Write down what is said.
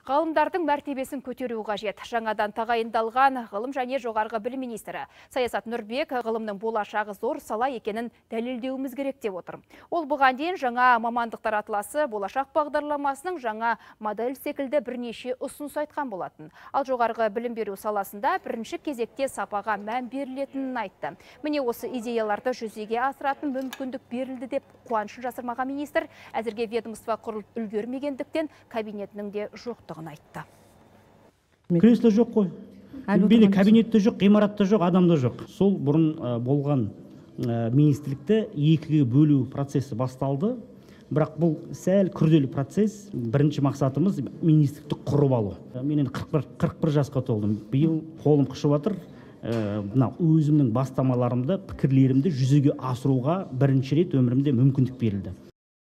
Ғалымдардың мәртебесін көтеру қажет. Жаңадан тағайындалған ғылым және жоғарғы білім министрі Саясат Нұрбек ғылымның болашағы зор сала екенін дәлелдеуіміз керек деп отыр. Ол бұған дейін жаңа мамандықтар атласы болашақ бағдарламасының жаңа модель секілді бірнеше ұсыныс айтқан болатын. Ал жоғарғы білім беру саласында бірінші кезекте сапаға мән берілетінін айтты. Міне осы идеяларды жүзеге асыратын мүмкіндік берілді деп қуанышын жасырмаған министр әзірге ведомство құрылып үлгермегендіктен кабинетінің де жоқтығын айтты. Кресло жоқ қой. Бейде кабинетте жоқ, ғимаратта жоқ, адамда жоқ. Сол бұрын болған министрлікті екіге бөлу процесі басталды. Бірақ бұл сәл күрделі процесс. Бірінші мақсатымыз министрлікті құрып алу. Мен 41 жасқа толдым. Биыл қолым қышып жатыр. Өзімнің бастамаларымды, пікірлерімді жүзеге асыруға бірінші рет өмірімде мүмкіндік берілді.